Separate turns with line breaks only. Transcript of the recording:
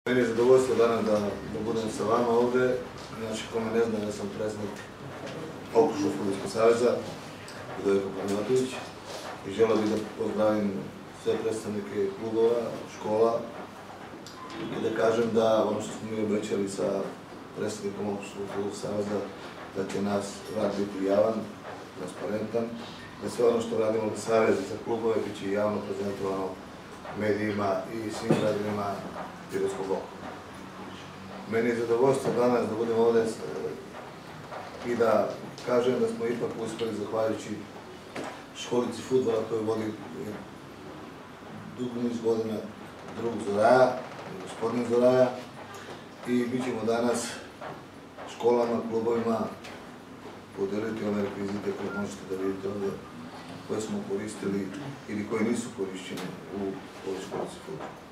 Meni je zadovoljstvo danas da budem sa vama ovde. Znači, ko me ne zna, ja sam predsjednik Okružnog fudbalskog saveza, Budojko Panajatović, i želeo bih da pozdravim sve predstavnike klubova, škola i da kažem da ono što smo mi obećali sa predstavnikom Okružnog fudbalskog saveza, da će nas rad biti javan, transparentan, da sve ono što radimo za savez i za klubove bit će javno prezentovano medijima i svim građanima Pirotskog okruga. Meni je zadovoljstvo danas da budem ovde i da kažem da smo ipak uspeli, zahvaljujući školici fudbala koju vodi dugo niz godina drug Zoraja, gospodin Zoraja, i bit ćemo danas školama, klubovima podeliti ove rekvizite koje možete da vidite ovde, koje smo koristili ili koje nisu korišćene u ovoj školici fudbala.